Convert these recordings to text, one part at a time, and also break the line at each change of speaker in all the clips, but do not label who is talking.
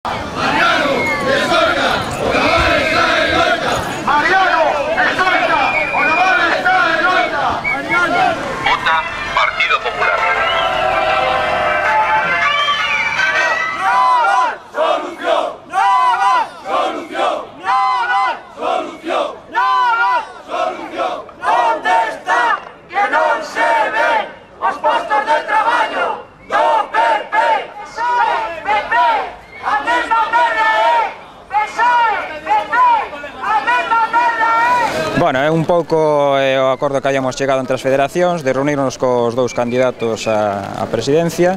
Mariano, escolta, o naval está en loita. Mariano, escolta, o naval está en loita.
Vota Partido Popular.
Onde está que non se ven os postos de traballo do PP? PP, a mesma merda é PSOE, PP, a mesma merda é.
Bueno, é un pouco o acordo que hayamos chegado entre as federacións de reunirnos cos dous candidatos á presidencia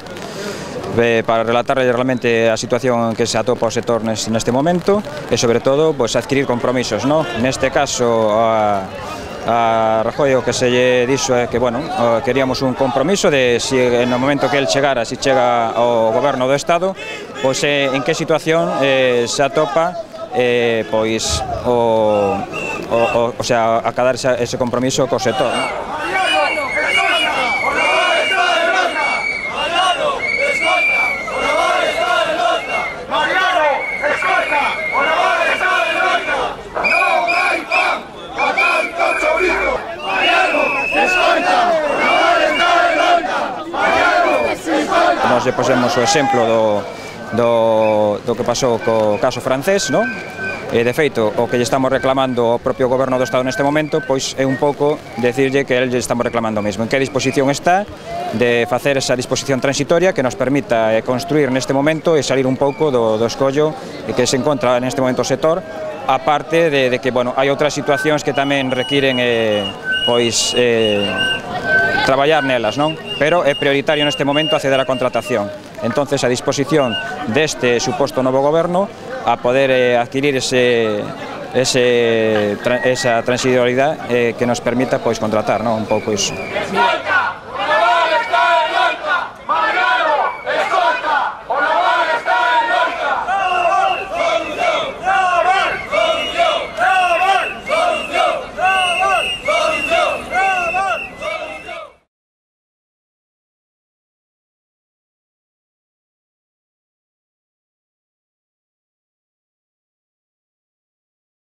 para relatarle realmente a situación que se atopa o sector neste momento e, sobre todo, pues, adquirir compromisos, ¿no? Neste caso, a Rajoy o que se lle dixo é que, bueno, queríamos un compromiso de si no momento que el chegara, si chega ao goberno do Estado, pois en que situación se atopa pois o sea, acabar ese compromiso co sector, ¿no? Nos lle posemos o exemplo do que pasou co caso francés, non? E, de feito, o que lle estamos reclamando ao propio goberno do Estado neste momento, pois é un pouco decirlle que lle estamos reclamando o mesmo. En que disposición está de facer esa disposición transitoria que nos permita construir neste momento e salir un pouco do escollo que se encontra neste momento o sector, aparte de que, bueno, hai outras situacións que tamén requiren, pois, traballar nelas, non? Pero é prioritario neste momento acceder á contratación. Entonces, a disposición deste suposto novo goberno a poder adquirir esa transitoriedade que nos permita, pois, contratar, non? Un pouco iso.